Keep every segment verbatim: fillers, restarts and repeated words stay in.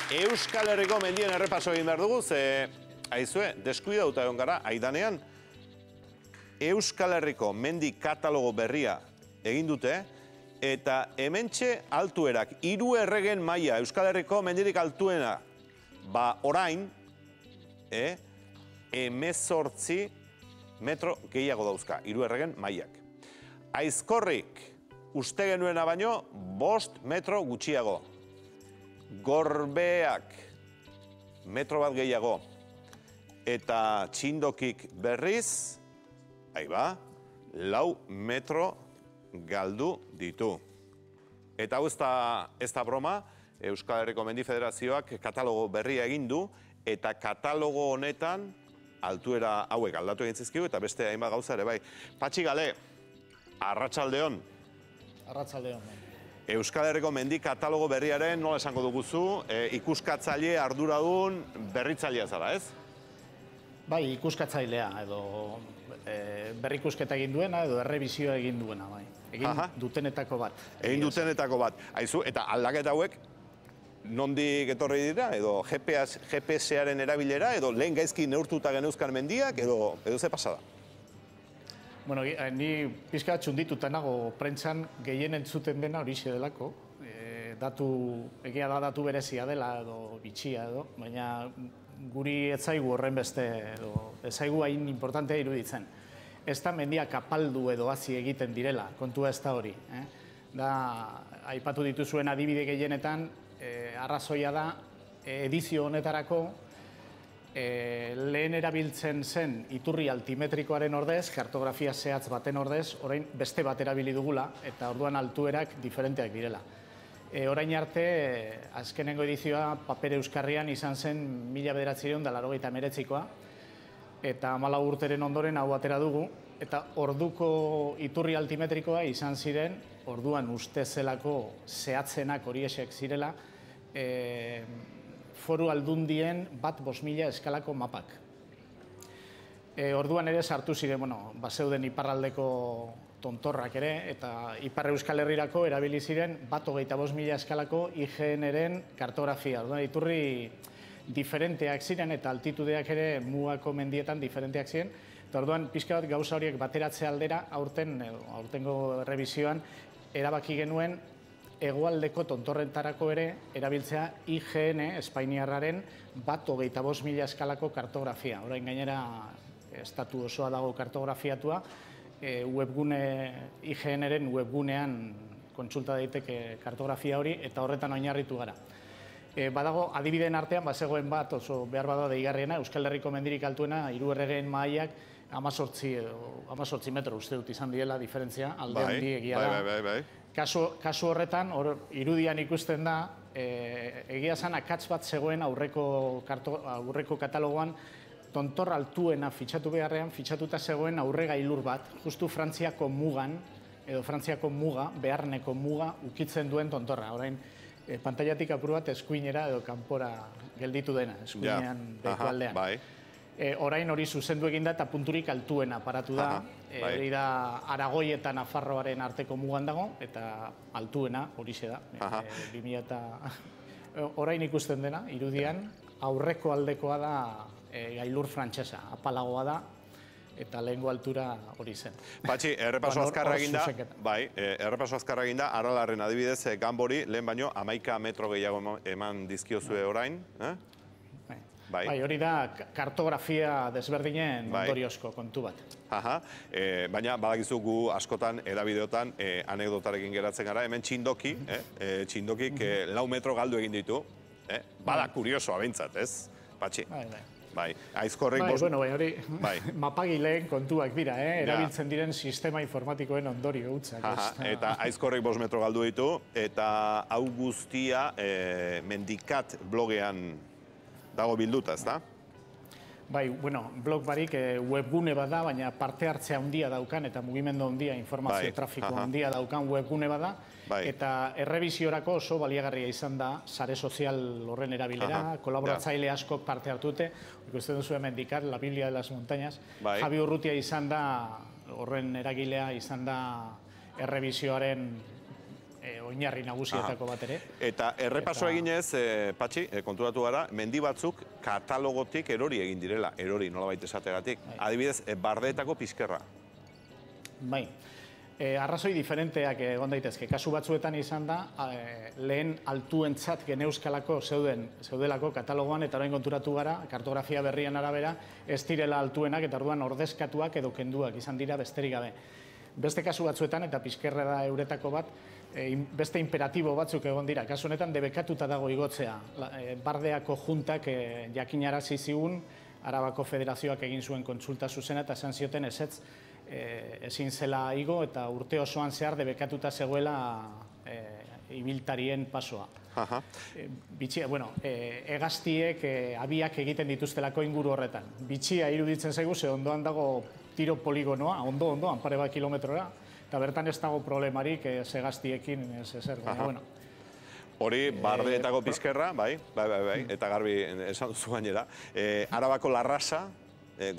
Euskal Herriko mendien errepaso egin behar dugu, ze, aizue, deskuidauta egon gara, aidanean, Euskal Herriko mendi katalogo berria egin dute, eta hementxe altuerak, hiru erregen maila, Euskal Herriko mendirik altuena, ba orain, e, emezortzi metro gehiago dauzka, hiru erregen mailak. Aizkorrik, uste genuena baino, bost metro gutxiago. Gorbeak, metro bat gehiago. Eta txindokik berriz, aiba, lau metro galdu ditu. Eta hau ez da, ez da broma, Euskal Herriko Mendi Federazioak katalogo berria egin du, eta katalogo honetan altuera hauek aldatu egin zizkigu, eta beste hainbat gauza ere bai. Patxi Gale, arratsaldeon. Arratsaldeon. Euskal Herriko mendi katalogo berriaren, nola esango duguzu, e, ikuskatzaile, arduradun, berritzailea zara, ez? Bai, ikuskatzailea, edo e, berrikusketa egin duena, edo errebizioa egin duena, bai. Egin Aha. dutenetako bat. Egin dutenetako bat. Aizu, eta aldaketa hauek, nondik etorri dira, edo G P S-aren erabilera, edo lehen gaizki neurtuta geneuzkan mendiak, edo, edo ze pasada? Bueno, ni pizka txundituta nago prentsan gehien entzuten dena horixe delako. E, datu, egia da datu berezia dela edo bitxia edo, baina guri ez zaigu horren beste edo ez zaigu hain importantea iruditzen. Ez da mendia kapaldu edo hazi egiten direla, kontua ez da hori. Eh? Da, aipatu dituzuen adibide gehienetan, e, arrazoia da edizio honetarako E, lehen erabiltzen zen iturri altimetrikoaren ordez, kartografia zehatz baten ordez, orain beste bat erabili dugula, eta orduan altuerak diferenteak direla. E, orain arte, e, azkenengo edizioa paper euskarrian izan zen mila bederatziehun eta laurogeita hemeretzikoa, eta hamalau urteren ondoren hau atera dugu, eta orduko iturri altimetrikoa izan ziren, orduan uste zelako zehatzenak horiexek zirela, e, foru aldundien bat bost mila eskalako mapak. E, orduan ere sartu ziren, bueno, bazeuden iparraldeko tontorrak ere, eta Ipar Euskal Herrirako erabili ziren bat hogeita bost mila eskalako I G N-ren kartografia. Orduan, iturri diferenteak ziren eta altitudeak ere mugako mendietan diferenteak ziren. Eta orduan, pixka bat gauza horiek bateratze aldera, aurten, aurtengo errebizioan, erabaki genuen hegoaldeko tontorrentarako ere erabiltzea I G N, Espainiarraren, bat hogeita bost mila eskalako kartografia. Orain gainera, estatu osoa dago kartografiatua, e, webgune, I G N-ren webgunean kontsulta daiteke kartografia hori, eta horretan oinarritu gara. E, badago, adibideen artean, bazegoen bat, oso behar bada deigarriena, Euskal Herriko mendirik altuena, hiru erregen mailak, hamazortzi metro uste dut izan diela diferentzia, alde handi egia da. Bai, bai, bai, bai. Kasu, kasu horretan, or, irudian ikusten da, e, egia zan akats bat zegoen aurreko, karto, aurreko katalogoan, tontor altuena fitxatu beharrean, fitxatuta zegoen aurre gailur bat, justu Frantziako mugan, edo Frantziako muga, beharneko muga, ukitzen duen tontorra. Orain, e, pantailatik apur bat eskuinera edo kanpora gelditu dena, eskuinean ja. Beko aldean. Bai. E, orain hori zuzendu eginda eta punturik altuena paratu da. E, hori da Aragoi eta Nafarroaren arteko mugan dago, eta altuena horixe da. E, bi mila eta... Orain ikusten dena, irudian, aurreko aldekoa da e, gailur frantsesa, apalagoa da, eta lehengo altura hori zen. Patxi, errepaso azkarra eginda, bai, errepaso azkarra eginda, Aralarren adibidez, Ganbori, lehen baino, hamaika metro gehiago eman dizkiozue orain, eh? Bai. Bai, hori da kartografia desberdinen bai. Ondoriozko kontu bat. Aha, e, baina badakizu gu askotan edabideotan e, anekdotarekin geratzen gara, hemen txindoki, eh? e, txindokik e, lau metro galdu egin ditu, eh? Bada kuriosoa bentsat, ez? Patxi. Bai, bai. Bai, aizkorrik... Bai, bos... bueno, bai, hori bai. Mapagileen kontuak dira, eh? Erabiltzen diren sistema informatikoen ondorio gutzak. Aha, eta aizkorrik bost metro galdu ditu, eta hau guztia e, mendikat blogean dago bilduta, ez da? Bai, bueno, blog barik webgune bat da, baina parte hartzea handia daukan, eta mugimendu handia, informazio trafiko handia daukan webgune bat da, eta errebiziorako oso baliagarria izan da, sare sozial horren erabilera, kolaboratzaile askok parte hartute, ikusten duzu hemen dikat, La Biblia de las Montañas, Javi Urrutia izan da, horren eragilea izan da errebizioaren oinarri nagusietako bat ere. Eta errepaso eginez, Patxi, konturatu gara, mendi batzuk katalogotik erori egin direla, erori nolabait esategatik. Adibidez, Bardeetako Pizkerra. Bai. Arrazoi diferenteak egon daitezke. Kasu batzuetan izan da, lehen altuentzat geneuzkalako zeudelako katalogoan, eta orain konturatu gara, kartografia berrian arabera, ez direla altuenak, eta orduan ordezkatuak edo kenduak izan dira besterik gabe. Beste kasu batzuetan, eta Pizkerra da euretako bat, beste imperatibo batzuk egon dira. Kasu honetan, debekatuta dago igotzea. Bardeako juntak jakinarazi zigun, Arabako Federazioak egin zuen kontsulta zuzena, eta esan zioten ezetz, ezin zela igo eta urte osoan zehar debekatuta zegoela ibiltarien pasoa. Bitxia, bueno, hegaztiek abiak egiten dituztelako inguru horretan. Bitxia iruditzen zaigu, ze ondoan dago tiro poligonoa, ondo, ondoan, pare bat kilometrora, eta bertan ez dago problemarik hegaztiekin ez ezer. Hori, Bardeetako Pizkerra, bai, bai, bai, bai, eta garbi esan duzu gainera. Arabako Larrasa,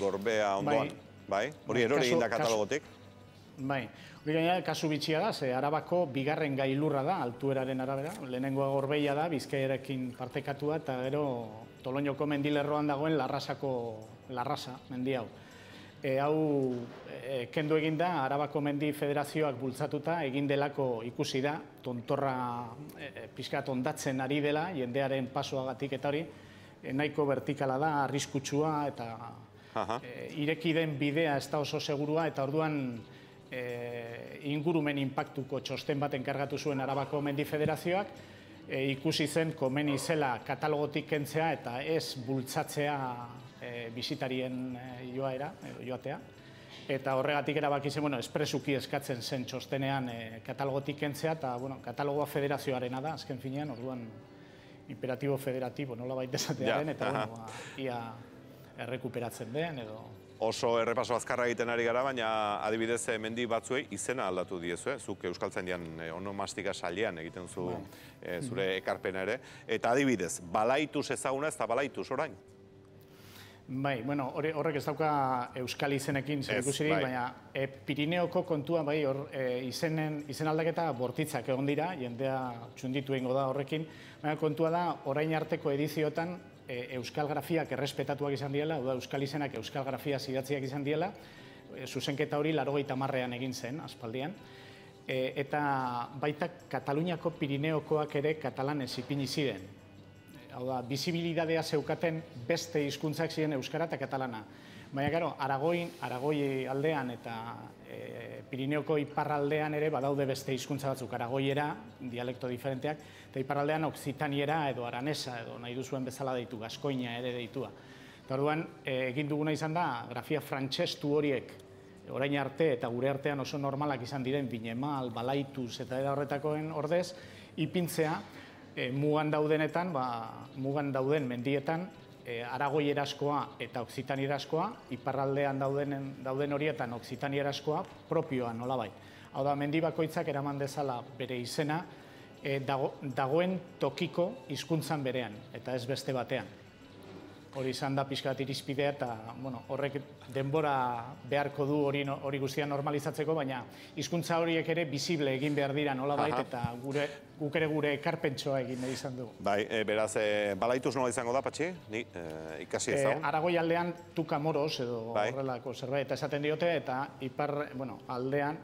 Gorbea ondoan. Bai, hori erori egin da katalogotik. Bai, hori gainera kasu bitxia da, ze Arabako bigarren gailurra da, altueraren arabera. Lehenengoa Gorbeia da, Bizkaiarekin partekatua, eta gero Toloñoko mendilerroan dagoen Larrasako Larrasa, mendi hau. Hau kendu egin da, Arabako Mendi Federazioak bultzatuta, egin delako ikusi da, tontorra pixkat ondatzen ari dela, jendearen pasoagatik eta hori, nahiko vertikala da, arriskutsua eta ireki den bidea ez da oso segurua, eta orduan ingurumen inpaktuko txosten bat enkargatu zuen Arabako Mendi Federazioak, ikusi zen komeni zela katalogotik kentzea eta ez bultzatzea bisitarien joaera, joatea. Eta horregatik erabaki zen, bueno, espresuki eskatzen zen txostenean katalogotik kentzea, eta, bueno, katalogoa federazioarena da, azken finean, orduan, imperatibo federatibo, nola baita esatearen, eta, bueno, ia errekuperatzen den, edo... Oso errepaso azkarra egiten ari gara, baina adibidez mendi batzuei izena aldatu diezu, zuk Euskaltzaindian onomastika sailean egiten zu zure ekarpena ere. Eta adibidez, Balaituz ezaguna ez da Balaituz orain? Bai, bueno, horrek ez dauka Euskal izenekin zer ikusirik, baina Pirineoko kontua, bai, izen aldaketa bortitzak egon dira, jendea txunditu egingo da horrekin, baina kontua da, orain arteko ediziotan, Euskal grafiak errespetatuak izan diela, hau da, Euskal izenak Euskal grafia idatziak izan diela, zuzenketa hori laurogeita hamarrean egin zen, aspaldian, eta baita Kataluniako Pirineokoak ere katalanez ipini ziren. Hau da, bizibilidadea zeukaten beste hizkuntzak ziren Euskara eta katalana. Baina, gero, Aragoi aldean eta Pirineoko iparraldean ere badaude beste hizkuntza batzuk, aragoiera, dialekto diferenteak, eta iparraldean oksitaniera edo aranesa edo nahi duzuen bezala deitu, gaskoina ere deitua. Eta orduan, egin duguna izan da, grafia frantsestu horiek orain arte eta gure artean oso normalak izan diren, Binemal, Balaituz eta era horretakoen ordez, ipintzea, mugan daudenetan, mugan dauden mendietan, aragoierazkoa eta oksitanierazkoa, iparraldean dauden horietan oksitanierazkoa propioa nolabait. Hau da, mendi bakoitzak eraman dezala bere izena, dagoen tokiko hizkuntzan berean, eta ez beste batean. Hori izan da pixka bat irizpidea, eta horrek denbora beharko du hori guztia normalizatzeko, baina hizkuntza horiek ere bizible egin behar dira nolabait, eta guk ere gure ekarpentsoa egin nahi izan dugu. Bai, beraz, Balaituz nola izango da, Patxi? Ni ikasi ezagun? Aragoi aldean tuka moros edo horrelako zerbait, eta esaten diote, eta ipar aldean,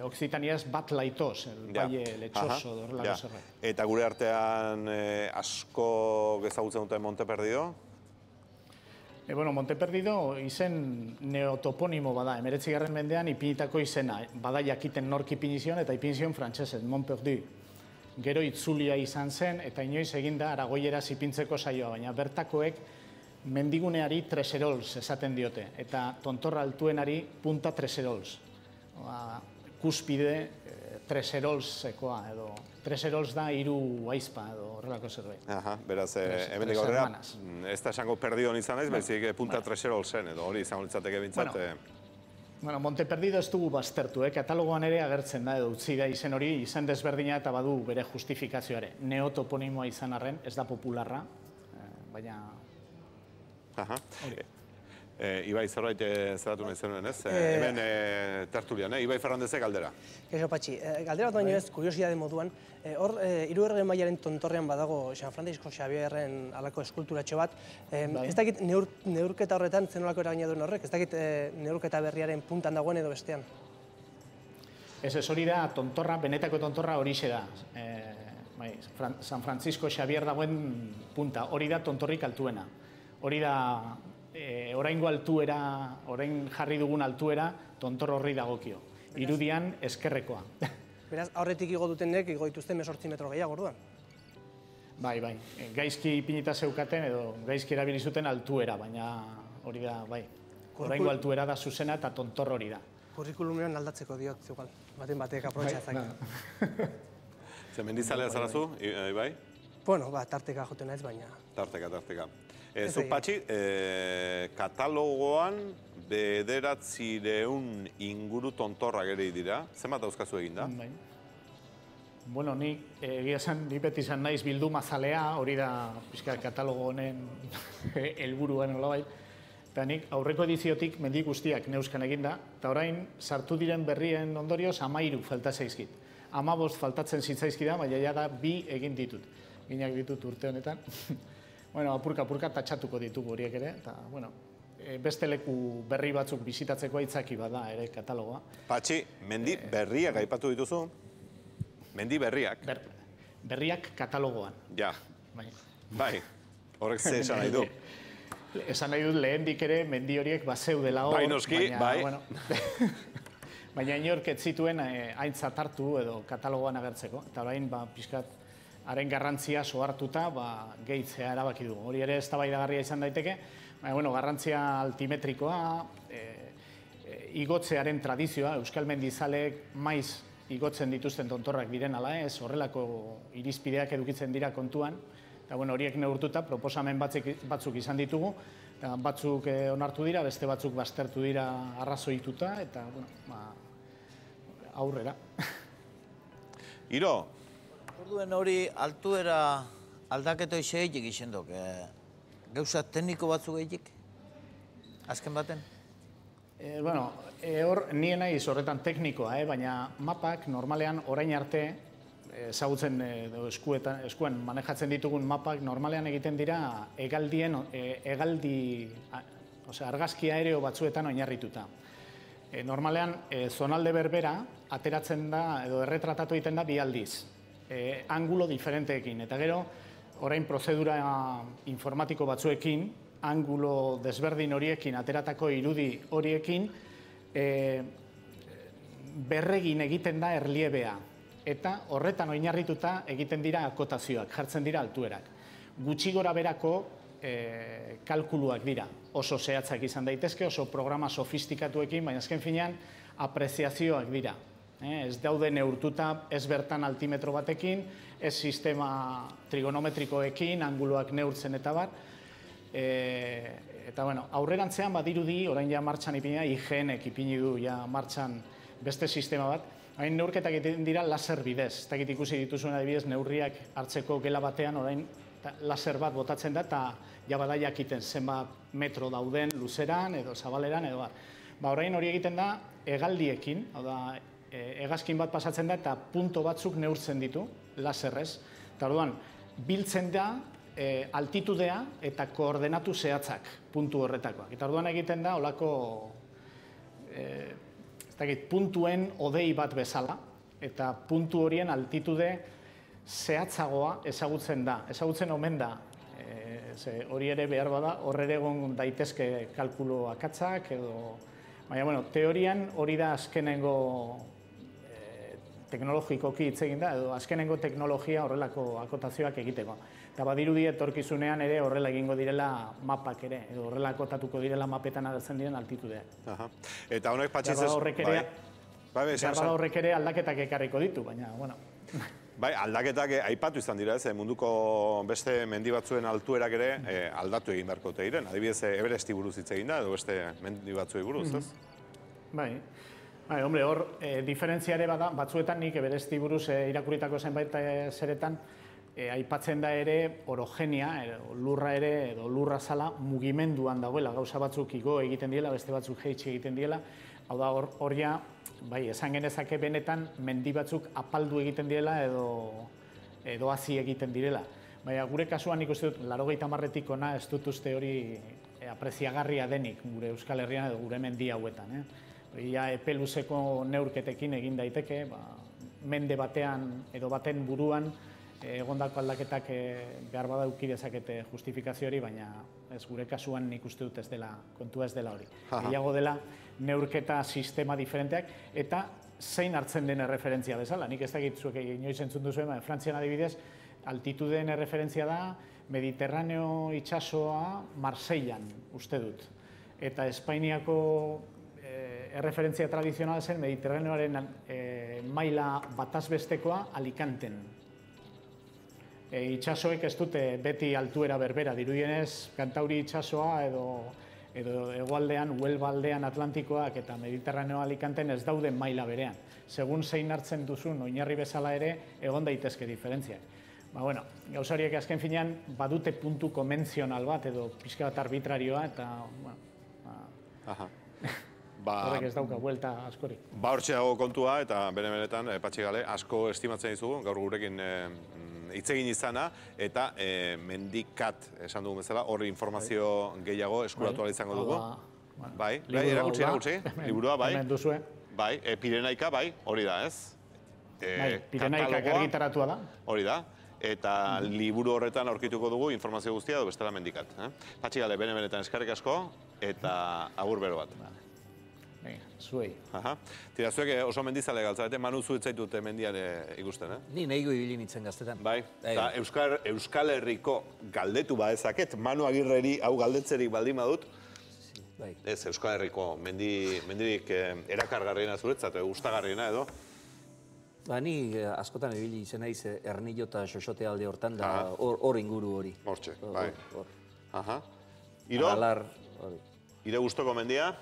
oksitaniaz bat laitoz, baile letxoso horrelako zerbait. Eta gure artean asko ezagutzen duten Monte Perdido? Bueno, Monte Perdido izen neotoponimo bada, emeretzigarren mendean ipinitako izena, bada jakiten nork ipinizion eta ipinizion frantsesez, Montperdu. Gero itzulia izan zen eta inoiz eginda aragoieraz ipintzeko saioa, baina bertakoek mendiguneari treserols esaten diote, eta tontorra altuenari punta treserols. Kuspide treserolsekoa edo treserols da hiru aizpa edo horrelako zerbait. Beraz, hemendik aurrera, ez da esango Perdido izan naiz, baizik punta treserolsen edo hori izango litzateke bintzat. Bueno, Monte Perdido ez dugu baztertu, katalogoan ere agertzen da edo utzi da izen hori, izen desberdina eta badu bere justifikazioare. Neotoponimoa izan arren, ez da popularra, baina... Ibai, zerbait zeratu nahi zenuen, ez? Hemen tertulian, Ibai Fernandezek galdera. Kaixo, Patxi. Galdera bat baino ez, kuriosidade moduan, hor, hirugarren mailaren tontorrean badago San Francisco Xavierren halako eskulturatxo bat. Ez dakit neurketa horretan, zen nolako eragina duen horrek? Ez dakit neurketa berriaren puntan dagoen edo bestean? Ez ez hori da, tontorra, benetako tontorra horixe da. San Francisco Xavier dagoen punta, hori da tontorrik altuena. Hori da, oraingo altuera, orain jarri dugun altuera, tontor horri dagokio. Irudian eskerrekoa. Beraz, aurretik igo dutenek, igo dituzten mesortzi metro gehiago orduan? Bai, bai. Gaizki ipinita zeukaten edo gaizki erabili zuten altuera, baina hori da, bai. Oraingo altuera da zuzena eta tontor hori da. Kurrikulumean aldatzeko diot, zugal. Baten batek aprobetxatzak. Ze mendizalea zarazu, Ibai? Bueno, ba, tarteka joten naiz, baina... Tarteka, tarteka. Zuk, Patxi, katalogoan bederatzireun inguru tontorrak ere dira. Zenbat dauzkazu egin da? Bueno, ni egia esan, ni beti izan naiz bilduma zalea, hori da pixka katalogo honen helburuen nolabait. Eta nik aurreko ediziotik mendi guztiak neuzkan eginda, eta orain sartu diren berrien ondorioz amairu falta zaizkit. Amabost faltatzen zitzaizkida, baina ja da bi egin ditut. Ginak ditut urte honetan. Bueno, apurka-apurka tatxatuko ditugu horiek ere, eta, bueno, beste leku berri batzuk bizitatzeko aitzaki bada ere katalogoa. Patxi, mendi berriak aipatu dituzu? Mendi berriak? Berriak katalogoan. Ja, bai, horrek ze esan nahi du. Esan nahi dut lehendik ere mendi horiek bazeudela hor. Bai, noski, bai. Baina inork ez zituen aintzat hartu edo katalogoan agertzeko. Eta orain, pixkat, haren garrantzia sohartuta gehitzea erabaki dugu. Hori ere eztabaidagarria izan daiteke, baina garrantzia altimetrikoa, igotzearen tradizioa, Euskal Mendizaleek maiz igotzen dituzten tontorrak diren ala ez, horrelako irizpideak edukitzen dira kontuan, eta horiek neurtuta proposamen batzuk izan ditugu, batzuk onartu dira, beste batzuk baztertu dira arrazoituta, eta aurrera. Iro? Orduen hori altuera aldaketo egik izan duk, gauza tekniko batzu egik, azken baten? Bueno, hor nien naiz horretan teknikoa, baina mapak normalean orain arte, ezagutzen eskuen manejatzen ditugun mapak normalean egiten dira hegaldien, hegaldi, argazki aereo batzuetan oinarrituta. Normalean, zonalde berbera ateratzen da, edo erretratatu egiten da bi aldiz. Angulo diferenteekin, eta gero, orain prozedura informatiko batzuekin, angulo desberdin horiekin, ateratako irudi horiekin, berregin egiten da erliebea, eta horretan oinarrituta egiten dira akotazioak, jartzen dira altuerak. Gutxi gora berako kalkuluak dira, oso zehatzak izan daitezke, oso programa sofistikatuekin, baina azken finean apreziazioak dira. Ez daude neurtuta ez bertan altimetro batekin, ez sistema trigonometrikoekin, anguloak neurtzen eta bar. Eta, bueno, aurrerantzean badirudi, orain ja martxan ipinea, I G N-ek ipini du ja martxan beste sistema bat, hain neurketak egiten dira laser bidez. Eta ikusi dituzuen adibidez, neurriak hartzeko gela batean, orain laser bat botatzen da, eta ja bada jakiten zenbat metro dauden luzeran, edo zabaleran, edo bar. Ba, orain hori egiten da, hegaldiekin, hau da, hegazkin bat pasatzen da eta punto batzuk neurtzen ditu, laserrez. Eta orduan, biltzen da altitudea eta koordenatu zehatzak puntu horretakoak. Eta orduan egiten da, olako puntuen odei bat bezala, eta puntu horien altitude zehatzagoa ezagutzen da. Ezagutzen omen da, hori ere behar bada, horre egon daitezke kalkulo akatzak, edo... Baina, bueno, teorian hori da azkenengo teknologikoki hitz egin da, edo azkenengo teknologia horrelako akotazioak egiteko. Eta badirudi etorkizunean ere horrela egingo direla mapak ere, edo horrela akotatuko direla mapetan agertzen diren altitudeak. Eta honek patxitzez... Garbada horrek ere aldaketak ekarriko ditu, baina, bueno... Bai, aldaketak aipatu izan dira, ez, munduko beste mendi batzuen altuerak ere aldatu egin beharko te diren. Adibidez, Everesti buruz hitz egin da, edo beste mendi batzuei buruz, ez? Bai, hombre, hor, diferentzia ere bada, batzuetan nik Everesti buruz irakuritako zenbait zeretan, aipatzen da ere orogenia, lurra ere, edo lurra zala mugimenduan dagoela, gauza batzuk igo egiten diela, beste batzuk jeitsi egiten diela, hau da hor ja, bai, esan genezake benetan mendi batzuk apaldu egiten diela edo edo hazi egiten direla. Baina gure kasuan nik uste dut, laurogeita hamarretik ona ez dut uste hori apreziagarria denik gure Euskal Herrian edo gure mendi hauetan. Ja, epe luzeko neurketekin egin daiteke, mende batean edo baten buruan egondako aldaketak behar bada eduki dezakete justifikazio hori, baina ez gure kasuan nik uste dut ez dela, kontua ez dela hori. Gehiago dela neurketa sistema diferenteak eta zein hartzen den erreferentzia bezala. Nik ez dakit zuek inoiz entzun duzuen, baina Frantzian adibidez, altitudeen erreferentzia da Mediterraneo itsasoa Marseillan, uste dut. Eta Espainiako erreferentzia tradizionala zen Mediterraneoaren maila batazbestekoa Alicanten. Itsasoek ez dute beti altuera berbera, dirudienez Kantauri itsasoa edo edo hegoaldean, Huelva aldean Atlantikoak eta Mediterraneo Alicanten ez dauden maila berean. Segun zein hartzen duzun, oinarri bezala ere, egon daitezke diferentziak. Ba, bueno, gauza horiek azken finean badute puntu konbentzional bat edo pixka bat arbitrarioa eta, bueno, horrek ez dauka buelta askori. Ba, hortxe dago kontua eta bene-benetan, Patxi Gale, asko estimatzen dizugu, gaur gurekin hitz egin izana, eta mendikat, esan dugun bezala, horri informazio gehiago eskuratu ala izango dugu. Bai, erakutsi, erakutsi, liburua, bai. Bai, Pirenaika, bai, hori da, ez? Pirenaika argitaratua da. Hori da, eta liburu horretan aurkituko dugu informazio guztia edo bestela mendikat. Patxi Gale, bene-benetan eskerrik asko, eta agur bero bat. Zuei. Tira, zuek oso mendizale galtzarete, Manu zuetzaitut mendian ikusten, eh? Ni nahigo ibili nintzen gaztetan. Bai, eta Euskal Herriko galdetu badezaket, Manu Agirreri hau galdetzerik baldin badut, ez, Euskal Herriko mendirik erakargarriena zuretzat, gustagarriena edo? Ba, ni askotan ibili izan naiz Ernillo eta Xoxote alde hortan, da hor inguru hori. Hortxe, bai. Iro? Ire gustoko mendia?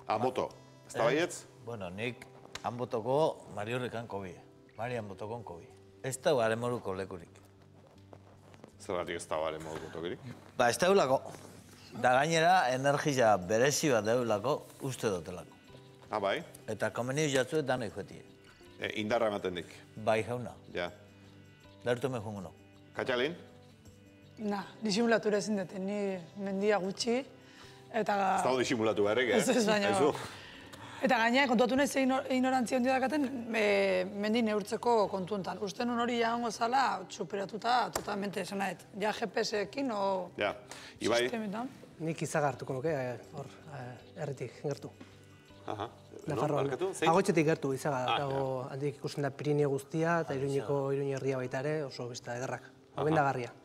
Amoto, ez da baietz? Bueno, nik Amotoko Mariorrikan kobi, Mari Amotokon kobi. Ez da garen moruko lekurik. Zergatik ez da garen moruko tokirik? Ba, ez da eulako. Da gainera, energia berezi bat eulako uste dutelako. Ah, bai? Eta komenio jatzuet danoi juetie. Indarra ematen dik? Bai, jauna. Ja. Lertu mehun guno. Katxalin? Na, disimulatura ezin dute, ni mendia gutxi. Ez dago disimulatu beharrik, eh? Ez ez baina. Eta gaina, kontuatu nahi zein ignorantzia hondi dakaten, mendi neurtzeko kontuentan. Uste nun hori jaango zala, txuperatuta, totalmente esan nahet. Ja G P S-ekin o sistemetan. Nik izaga hartuko nuke, hor, herritik gertu. Aha. Nafarroan. Agotxetik gertu izaga. Dago, handik ikusten da Pirineo guztia, eta Iruñeko Iruñe herria baita ere, oso besta ederrak. Gomendagarria.